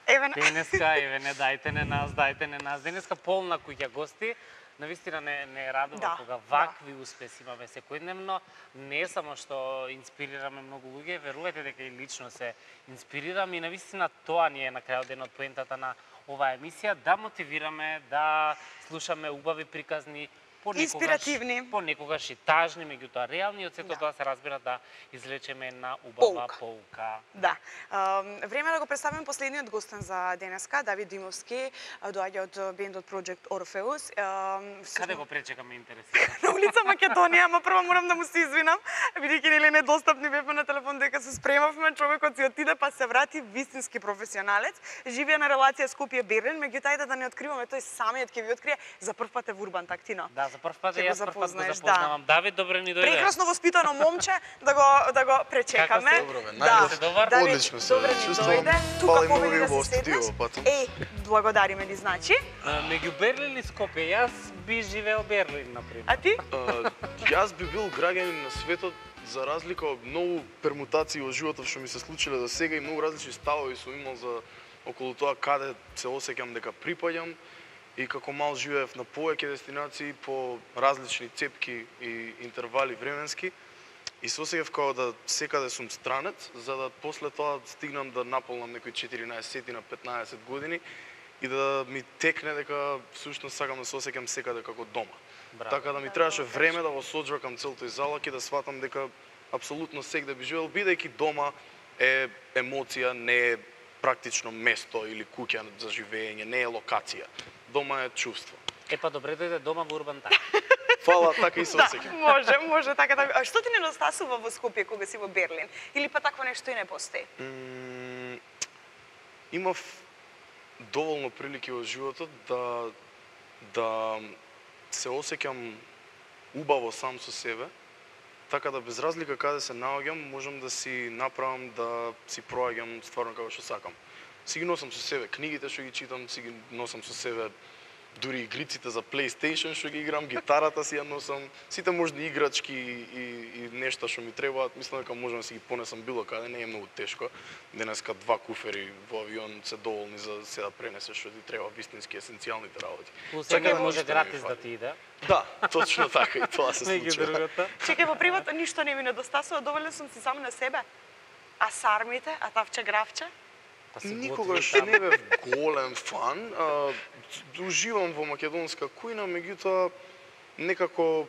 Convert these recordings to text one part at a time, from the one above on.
Денеска, не дајте не нас. Денеска полна куќа гости. Навистина не радува кога вакви успеси имаме секојдневно. Не само што инспирираме многу луѓе, верувајте дека и лично се инспирираме и навистина тоа ни е на крајот денот поентата на оваа емисија, да мотивираме, да слушаме убави приказни, понекогаш и тажни, меѓутоа реални, од сето тоа се разбира да извлечеме една убава поука. Да. Време да го представиме последниот гостен за денеска, Давид Димовски, доаѓа од бендот Project Orpheus. Каде го пречекаме интереси? На улица Македонија, ама прво морам да му се извинам, бидејќи нели недостапни бевме на телефон дека се спремавме, човекот си отиде па се врати вистински професионалец. Живее на релација Скопје-Берлин, меѓутоа ајде да не откриваме, тој самиот ќе ви открие за прв пат е во Урбан, Тактино. Да, за прв пат јас прв пат го запознавам. Давид, добре ни дојде. Прекрасно воспитано момче, да го пречекаме. Одлично се чувствувам. Тука победи да се седнеш. Благодариме ни, значи. Меѓу Берлин и Скопје, јас би живеел Берлин, например. А ти? Јас би бил граѓанин на светот, за разлика од многу пермутации во животот што ми се случиле до сега и многу различни ставови сум имал за околу тоа каде се осеќам дека припаѓам. И како мал живеев на повеќе дестинации по различни цепки и интервали временски. И се осеќав како да секаде сум странец, за да после тоа стигнам да наполнам некои 14 на 15 години и да ми текне дека всушност сакам да се осеќам секаде како дома. Браво. Така да ми требаше време да го соджвакам цел тој залак и да сватам дека апсолутно секаде би живеел, бидејќи дома е емоција, не е практично место или куќа за живење, не е локација. Дома е чувство. Епа добре дојде дома во Урбан Так. Фала, така и се осеќам. Може така да. А што ти недостасува во Скопје кога си во Берлин? Или па такво нешто и не постои? Имав доволно прилики во животот да се осеќам убаво сам со себе, така да без разлика каде се наоѓам, можам да си направам да си проаѓам стварно како што сакам. Си ги носам со себе книгите што ги читам, си ги носам со себе дури игриците за PlayStation што ги играм, гитарата си ја носам, сите можни играчки и нешта што ми требаат, мислам дека можам да си ги понесам било каде, не е многу тешко. Денеска 2 куфери во авион се доволни за се да пренесеш што ти треба, вистински есенцијалните работи. Така може гратис да ти иде. Да, точно така и тоа се случува. Чекај, во приват ништо не ми недостасува, доволен сум си сам на себе. А сармите, а тавче гравче? Никогаш не бев голем фан. Уживам во македонска кујна, меѓутоа некако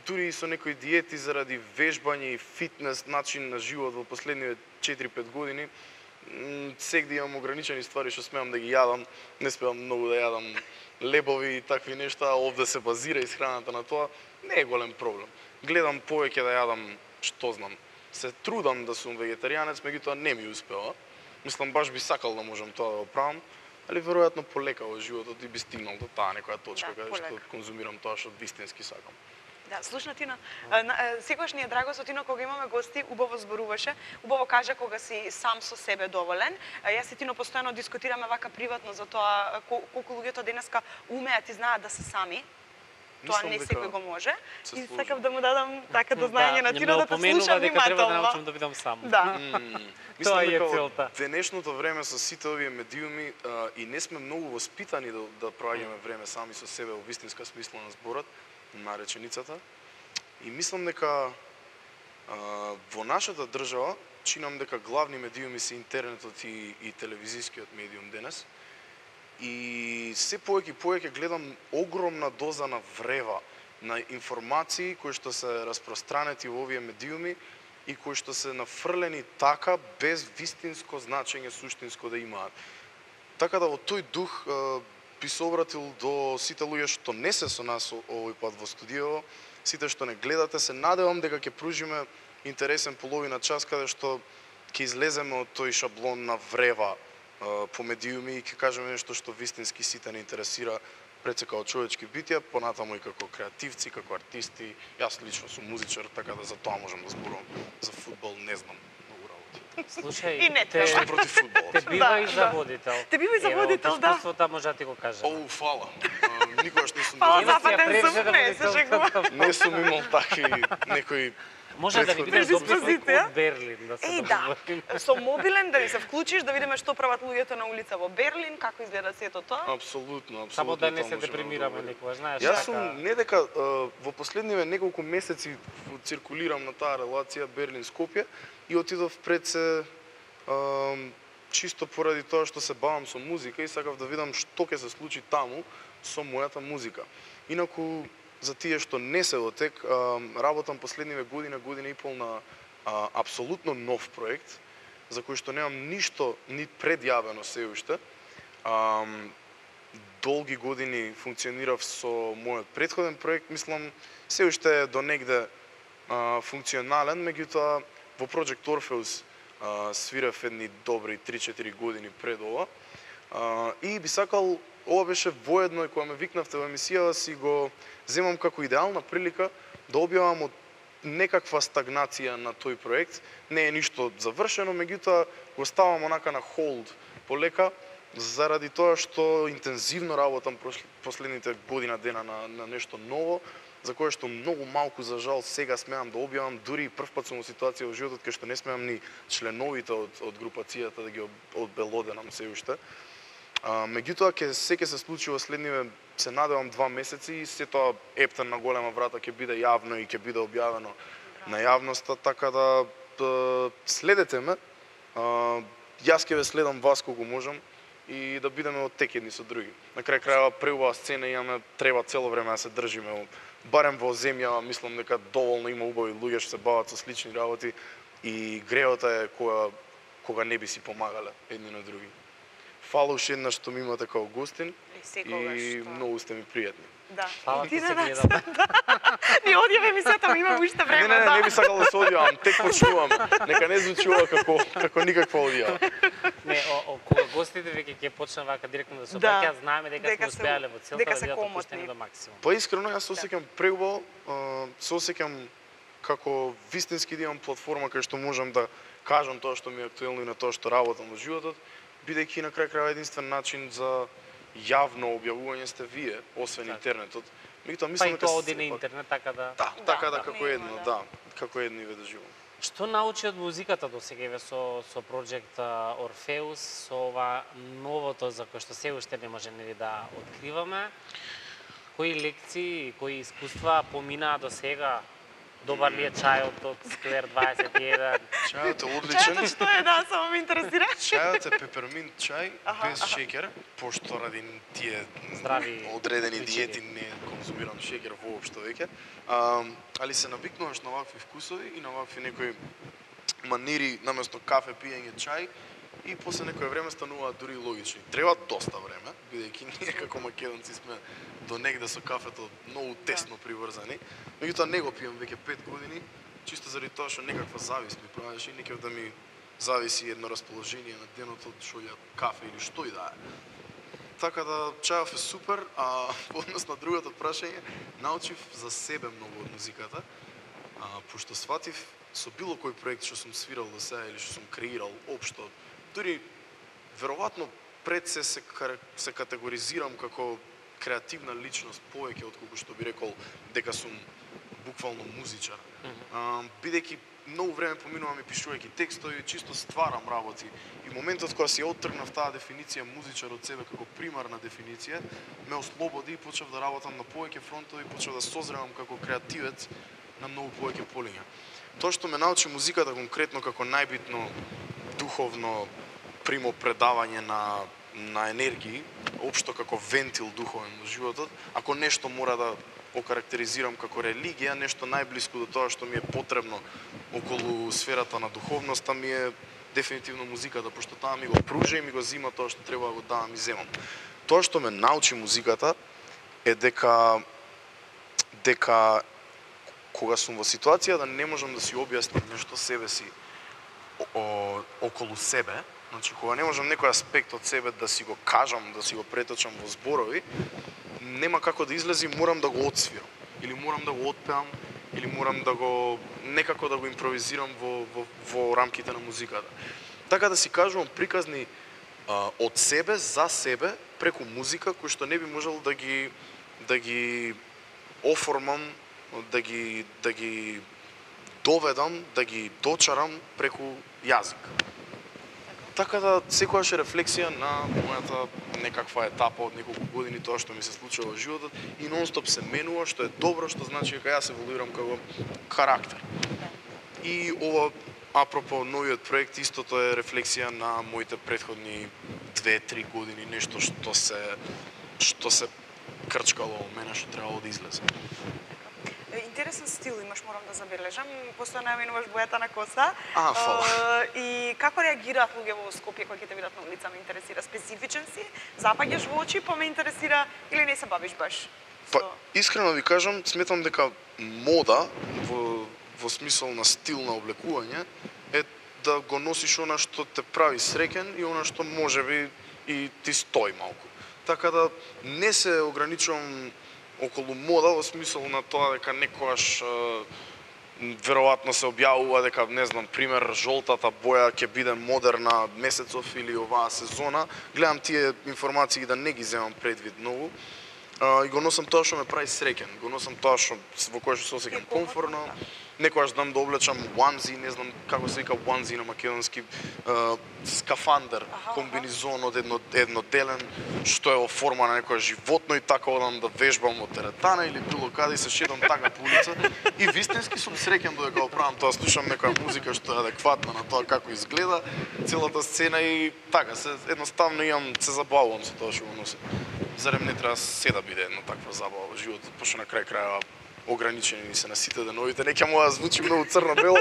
дури и со некои диети заради вежбање и фитнес начин на живот во последниве 4-5 години, сегде имам ограничени ствари што смеам да ги јадам, не смеам многу да јадам лебови и такви нешта, овде се базира исхраната на тоа, не е голем проблем. Гледам повеќе да јадам, што знам, се трудам да сум вегетаријанец, меѓутоа не ми успева. Мислам, баш би сакал да можам тоа да го правам, али веројатно полека во животот и би стигнал до таа некоја точка каде што конзумирам тоа што вистински сакам. Да, слушна Тино, секогаш ни е драго со Тино кога имаме гости, убаво зборуваше, убаво кажа кога си сам со себе доволен. Јас и Тино постојано дискутираме вака приватно за тоа колку луѓето денеска умеат и знаат да се сами. Тоа не секој го може. И сакав да му дадам така до знаење на Тино да те слуша внимателно. Дека треба да научам да бидам сам. Да. Тоа е целта. Денешното време со сите овие медиуми и не сме многу воспитани да проаѓаме време сами со себе во вистинска смисла на зборот, на реченицата. И мислам дека во нашата држава чинам дека главни медиуми се интернетот и телевизискиот медиум денес. И се повеќе гледам огромна доза на врева, на информации кои што се распространети во овие медиуми и кои што се нафрлени така без вистинско значење суштинско да имаат. Така да во тој дух би се обратил до сите луѓе што не се со нас овој пат во студио, сите што не гледате, се надевам дека ќе пружиме интересен половина час каде што ќе излеземе од тој шаблон на врева по медиуми и ќе кажеме нешто што вистински сите не интересира пред се како човечки битија, понатаму и како креативци, како артисти. Јас лично сум музичар, така да за тоа можам да зборувам. За фудбал не знам многу работи. Слушај, те против фудбалот. Те бива и за водител. Те бива и за водител, да. Искуството може да ти го кажам. Оу, фала. Никогаш не сум Фала, западен сум, не се шегувам. Не сум имал такви некои Може да ни биде дописник од Берлин, да се договориме. Со мобилен да ни се вклучиш, да видиме што прават луѓето на улица во Берлин, како изгледа сето тоа. Апсолутно. Само да не се депримираме никогаш, знаеш. Јас сум не дека во последниве неколку месеци циркулирам на таа релација Берлин-Скопје и отидов пред се чисто поради тоа што се бавам со музика и сакав да видам што ќе се случи таму со мојата музика. Инаку за тие што не се дотек, работам последниве година и пол на апсолутно нов проект, за кој што немам ништо ни предјавено се уште. Долги години функционирав со мојот претходен проект, мислам, се уште е до негде функционален, меѓутоа во Project Orpheus свирав едни добри 3-4 години пред ова. И би сакал, ова беше воедно и кога ме викнавте во емисијава, си го земам како идеална прилика да објавам од некаква стагнација на тој проект. Не е ништо завршено, меѓутоа го ставам онака на холд полека, заради тоа што интензивно работам последните година дена на нешто ново, за кое што многу малку за жал сега смеам да објавам, дури и првпат сум во ситуација во животот кај што не смеам ни членовите од групацијата да ги одбелоденам се уште. Меѓутоа ќе се случи во следниве, се надевам, 2 месеци и се тоа ептен на голема врата ќе биде јавно и ќе биде објавено на јавноста, така да следете ме. Јас ќе ве следам вас колку можам и да бидеме од тек едни со други. На крај крајава преубава сцена имаме, треба цело време да се држиме. Барем во земја, мислам дека доволно има убави луѓе што се бават со слични работи и греота е кога не би си помагале едни на други. Фала уште еднаш што ми имате као гостин и многу сте ми пријатни. Да. Фала ти се гледам. Ни одјаве мисјата, имам уште време. Не би сакал да се одјавам, тек почнувам. Нека не звучува како никаква одјава. Не, кога гостите веќе ќе почнат вака директно да се обраќаат, знаеме дека сме успеале во целта да бидат опуштени до максимум. Па искрено јас се осеќам преубаво, се осеќам како вистински да имам платформа кај што можам да кажам тоа што ми е актуелно и на тоа што работам во животот, бидејќи на крај крајава единствен начин за јавно објавување сте вие, освен интернетот. Па и тоа оди на интернет, така да... Да, така да, како едно, да, како едно и ве да живам. Што научи од музиката до сега со Project Orpheus, со ова новото за кое што се уште не може да откриваме? Кои лекции, кои искуства поминаа до сега? Добар ли е чајот од Сквер 21? Чајот е одличен. Чајот што е, да, само ме интересира. Чајот е пеперминт чај, без шеќер, пошто ради тие здрави одредени диети не конзумирам шеќер воопшто веќе. Али се навикнуваш на вакви вкусови и на вакви некои манири, наместо кафе пиење чај, и после некое време стануваат дури логични. Треба доста време, бидејќи ние како македонци сме до негде со кафето многу тесно приврзани. Меѓутоа не го пијам веќе 5 години, чисто заради тоа што некаква завист ми правеше и некој да ми зависи едно расположение на денот од што ја кафе или што и да е. Така да чајов е супер, а во однос на другото прашање, научив за себе многу од музиката, пошто сватив со било кој проект што сум свирал до сега или што сум креирал општо, дури веројатно пред се категоризирам како креативна личност повеќе отколку што би рекол дека сум буквално музичар. Бидејќи многу време поминувам и пишувајќи текстови, чисто стварам работи. И моментот кога си оттргнав таа дефиниција музичар од себе како примарна дефиниција, ме ослободи и почнав да работам на повеќе фронтови, почнав да созревам како креативец на многу повеќе полиња. Тоа што ме научи музиката конкретно како најбитно духовно примо предавање на енергии, општо како вентил духовен во животот, ако нешто мора да окарактеризирам како религија, нешто најблиско до тоа што ми е потребно околу сферата на духовноста ми е дефинитивно музиката, пошто таа ми го пружа и ми го зима тоа што треба да го давам и земам. Тоа што ме научи музиката е дека кога сум во ситуација да не можам да си објаснам нешто себе си околу себе, значи кога не можам некој аспект од себе да си го кажам, да си го преточам во зборови, нема како да излези, морам да го отсвирам, или морам да го отпеам, или морам да го некако да го импровизирам во рамките на музиката. Така да си кажувам приказни од себе за себе преку музика кои што не би можел да ги оформам, да ги доведам, да ги дочарам преку јазик. Така да секогаш е рефлексија на мојата некаква етапа од неколку години тоа што ми се случува во животот и нонстоп се менува, што е добро, што значи дека јас еволуирам како карактер. И ова апропо новиот проект истото е рефлексија на моите претходни 2-3 години, нешто што се крчкало во мене, што требало да излезе. Интересен стил имаш, морам да забележам. Постојано ја менуваш бојата на коса. Фала. И како реагираат луѓе во Скопје кога ќе те видат на улица, ме интересира. Специфичен си, запаѓаш во очи, па ме интересира или не се бавиш баш? Па, искрено ви кажам, сметам дека мода во смисол на стил на облекување е да го носиш она што те прави среќен и она што можеби и ти стои малку. Така да не се ограничувам околу мода во смисол на тоа дека некојаш веројатно се објавува дека, не знам, пример, жолтата боја ќе биде модерна месецов или оваа сезона. Гледам тие информации да не ги земам предвид многу. И го носам тоа што ме прави среќен. Го носам тоа што во кое што се осеќам комфортно. Некојаш знам да облечам onesie, не знам како се вика onesie на македонски, скафандер, комбинизон од едноделен, што е во форма на некоја животно и така одам да вежбам во теретана или било каде и се шетам така по улица. И вистински сум среќен додека го правам тоа, слушам некоја музика што е адекватна на тоа како изгледа целата сцена и така, едноставно се забавувам со тоа што го носам. Зарем не треба се да биде една таква забава во животот, пошто на крај крајава ограничени се на сите деновите. Не ќе му да звучи многу црно-бело.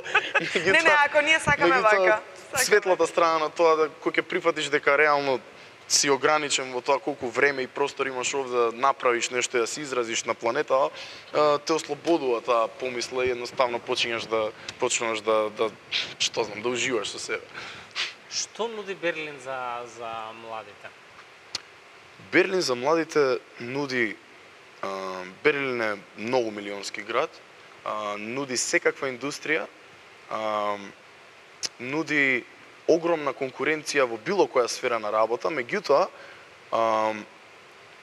Не, ако ние сакаме вака. Светлата страна на тоа да кој ќе прифатиш дека реално си ограничен во тоа колку време и простор имаш овде да направиш нешто и да се изразиш на планетава, те ослободува таа помисла и едноставно почнуваш да што знам, да уживаш со себе. Што нуди Берлин за младите? Берлин за младите нуди Берлин е многу милионски град, нуди секаква индустрија, нуди огромна конкуренција во било која сфера на работа, меѓутоа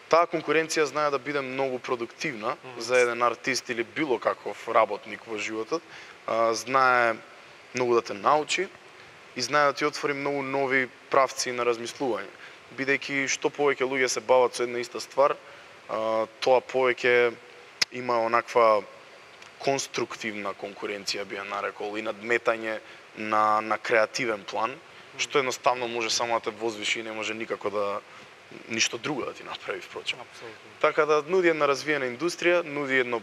таа конкуренција знае да биде многу продуктивна за еден артист или било каков работник во животот, знае многу да те научи и знае да ти отвори многу нови правци на размислување. Бидејќи што повеќе луѓе се бават со една иста ствар, тоа повеќе има онаква конструктивна конкуренција, би ја нарекол, и надметање на креативен план, што едноставно може само да те возвиши и не може никако да ништо друго да ти направи, впрочем. Апсолутно. Така да нуди една развиена индустрија, нуди едно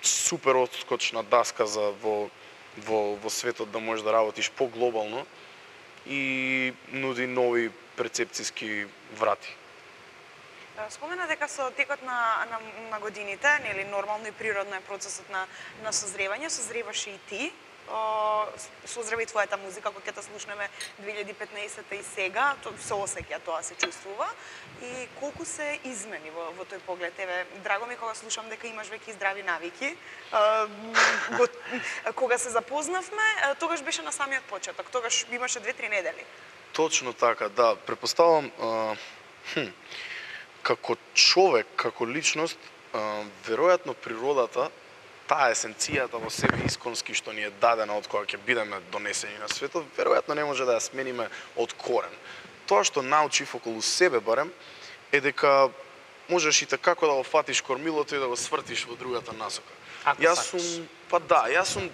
супер отскочна даска за во светот да можеш да работиш поглобално и нуди нови перцепцијски врати. Спомена дека со текот на годините, нели нормално и природно е процесот на созревање, созреваш и ти. Созрева и твојата музика, која ќе те слушнеме 2015 и сега, се осеќа тоа, се чувствува. И колку се измени во тој поглед? Еве, драго ми кога слушам дека имаш веќе здрави навики. Кога се запознавме, тогаш беше на самиот почеток, тогаш имаше 2-3 недели. Точно така, да. Претпоставувам како човек, како личност, веројатно природата, таа есенцијата во себе исконски што ни е дадена од кога ќе бидеме донесени на светот, веројатно не може да ја смениме од корен. Тоа што научив околу себе барем е дека можеш и како да го фатиш кормилото и да го свртиш во другата насока. Јас сум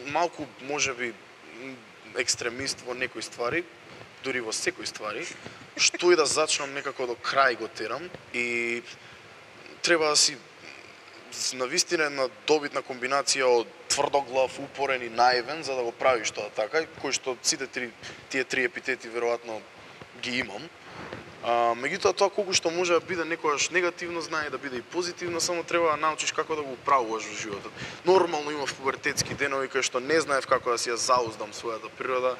малку можеби екстремист во некои ствари, дури во секои ствари, што и да зачнам некако до крај го терам и треба да си навистина една добитна комбинација од тврдоглав, упорен и наивен за да го правиш тоа така, кој што сите тие три епитети веројатно ги имам. Меѓутоа тоа колку што може да биде некогаш негативно, знае да биде и позитивно, само треба да научиш како да го управуваш во животот. Нормално имав пубертетски денови кај што не знаев како да си ја зауздам својата природа.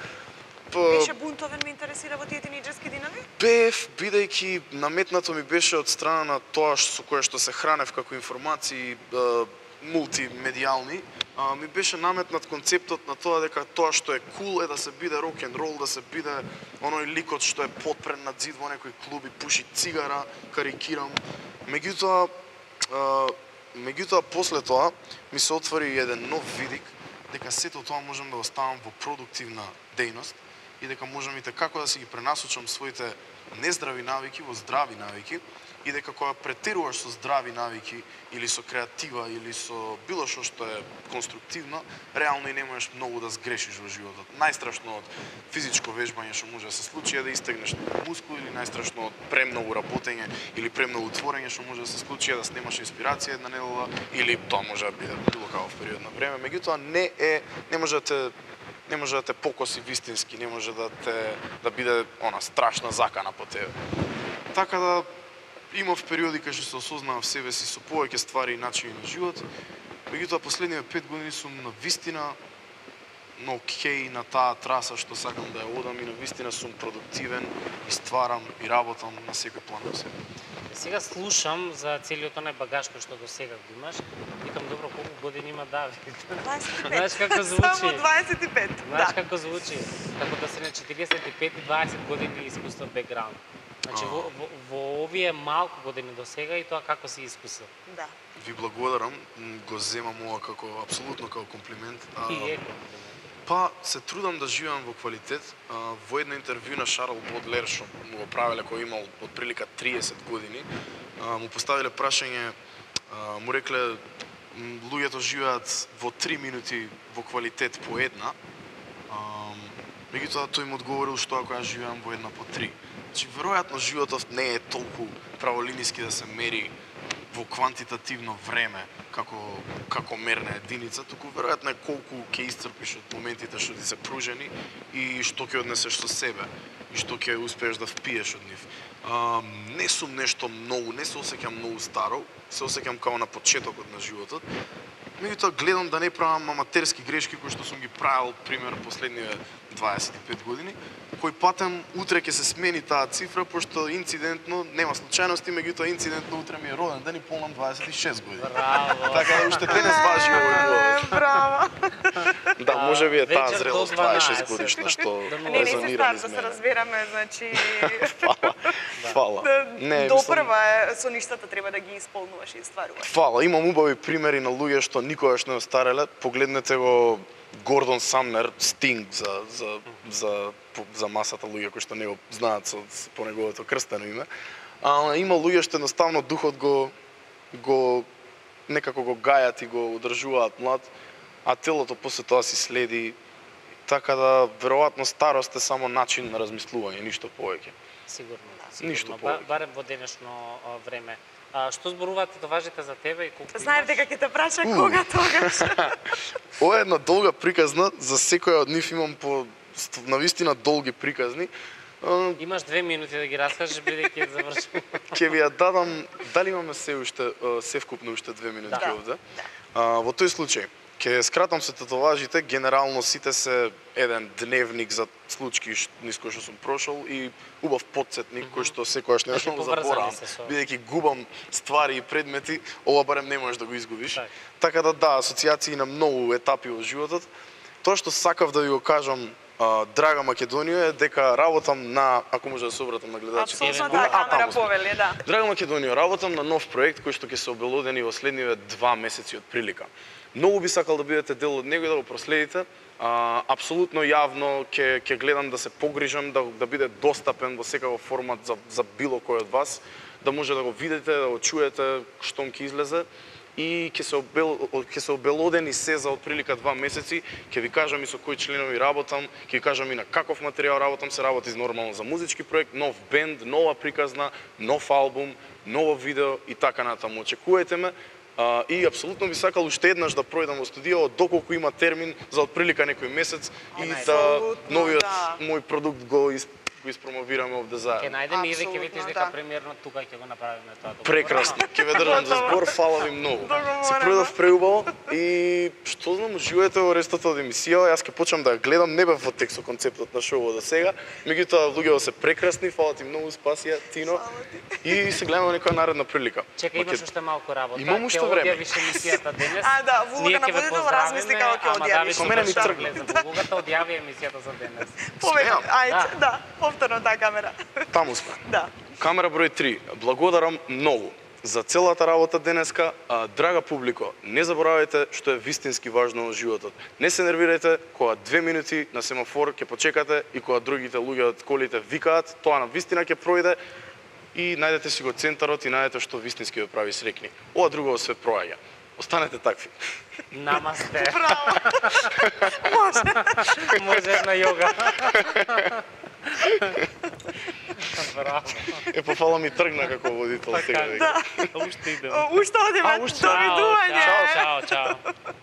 Беше бунтовен, ме интересира во тие тинејџерски денови? Бев, бидејќи наметнато ми беше од страна на тоа со кое што се хранев како информации мултимедијални, ми беше наметнат концептот на тоа дека тоа што е кул е да се биде рок н рол, да се биде оној ликот што е потпрен на зид во некој клуб и пуши цигара, карикирам. Меѓутоа после тоа ми се отвори еден нов видик дека сето тоа можам да го ставам во продуктивна дејност и дека можам и како да си ги пренасочам своите нездрави навики во здрави навики и дека кога претеруваш со здрави навики или со креатива или со било што е конструктивно, реално и не можеш многу да сгрешиш во животот. Најстрашно од физичко вежбање што може да се случи е да истегнеш мускул или најстрашно од премногу работење или премногу творење што може да се случи е да снемаш инспирација една недела или тоа може да биде било каков период на време. Меѓутоа не може да те покоси вистински, не може да биде страшна закана по тебе. Така да имав периоди кај што се осознавав себе си со повеќе ствари и начини на живот. Меѓутоа последниве 5 години сум на вистина на окей на таа траса што сакам да ја одам и на вистина сум продуктивен и стварам и работам на секој план во себе. Сега слушам за целиот онај багаж кој што до сега го имаш. Викам, добро, колку години има Давид? 25. Знаеш како звучи? Само 25. Знаеш како звучи? Како да си на 45 и 20 години искуство бекграунд. Значи во овие малку години до сега и тоа како си искусил? Да. Ви благодарам, го земам ова како апсолутно како комплимент. И е комплимент. Па се трудам да живеам во квалитет. Во едно интервју на Шарл Бодлер што му го правеле кога имал отприлика 30 години, му поставиле прашање, му рекле луѓето живеат во 3 минути во квалитет по една. Меѓутоа тој му одговорил што ако јас живеам во една по 3. Значи веројатно животот не е толку праволиниски да се мери во квантитативно време како мерна единица, туку веројатно е колку ќе исцрпиш од моментите што ти се пружени и што ќе однесеш со себе и што ќе успееш да впиеш од нив. Не сум нешто многу, не се осеќам многу старо, се осеќам како на почетокот на животот. Меѓутоа гледам да не правам аматерски грешки кои што сум ги правил пример последниве 25 години, кој патем утре ќе се смени таа цифра, пошто инцидентно, нема случајности, меѓутоа инцидентно утре ми е роден ден и полнам 26 години. Браво! Така да уште денес важи овој голос. Браво! Да, може би е таа зрелост 26 годишна што Не си резонира стар, низ да се мене. разбереме, значи... Фала. Не, Допрва со ништата треба да ги исполнуваш и стваруваш. Фала, имам убави примери на луѓе што никогаш не остареле. Погледнете го Гордон Самнер, Стинг за масата луѓе кои што не го знаат по неговото крстено име. Има луѓе што едноставно духот го некако го гајат и го одржуваат млад, а телото после тоа си следи. Така да веројатно старост е само начин на размислување, ништо повеќе. Сигурно. Ништо повеќе. Барем во денешно време. Што зборуваат татуажите за тебе и колку Знаев дека ќе те праша кога тогаш. Ова е една долга приказна, за секоја од нив имам по навистина долги приказни. Имаш 2 минути да ги раскажеш бидејќи завршувам. Ќе ви ја дадам, дали имаме се вкупно уште 2 минути овде? Во тој случај, ќе скратам се татуажите, генерално сите се еден дневник за случки низ кои што сум прошол и убав потсетник кој што секогаш не можам да заборавам, бидејќи губам ствари и предмети, ова барем не можеш да го изгубиш. Така да, асоциации на многу етапи во животот. Тоа што сакав да ви го кажам, драга Македонија, е дека работам на, ако може да се обратам на гледачите. Апсолутно да, камера повели, да. Драга Македонија, работам на нов проект кој што ќе се обелодени во следниве 2 месеци од прилика. Многу би сакал да бидете дел од него и да го проследите. Апсолутно јавно ќе гледам да се погрижам да биде достапен во секаков формат за било кој од вас, да може да го видите, да го чуете штом ќе излезе и ќе се обелодени се за отприлика 2 месеци, ќе ви кажам и со кои членови работам, ќе ви кажам и на каков материјал работам, се работи нормално за музички проект, нов бенд, нова приказна, нов албум, ново видео и така натаму. Очекувајте ме. И апсолутно би сакал уште еднаш да пројдам во студио, доколку има термин за отприлика некој месец и да новиот мој продукт го испромовираме овде заедно. Ќе најдеме и ќе видиш дека премиерно тука ќе го направиме тоа. Прекрасно, ќе ве држам за збор, фала ви многу. Се пројдов преубаво и што знам, уживајте во рестот од емисија, јас ќе почнам да ја гледам, не бев во текст со концептот на шоуот до сега, меѓутоа луѓето се прекрасни, фала ти многу, спасија, Тино. И се гледаме некоја наредна прилика. Чекај, имаш уште малку работа. Имам уште време. Ќе одјавиш емисијата денес. Да, во улога на водител размисли како ќе одјавиш. Со мене ми тргна. Улогата одјави емисијата за денес. Повеќе, ајде, да, повторно таа камера. Таму сме. Да. Камера број 3. Благодарам многу за целата работа денеска. Драга публико, не заборавајте што е вистински важно во животот. Не се нервирајте кога 2 минути на семафор ќе почекате и кога другите луѓе од колите викаат, тоа на вистина ќе пројде и најдете си го центарот и најдете што вистински ве прави срекни. Ова друго све проаѓа. Останете такви. Намасте. Браво. Може. Можеш на јога. Браво. Пофала ми тргна како водител сега. Да. Уште идем. Уште одиме. Уште. Довидување. Чао, чао, чао.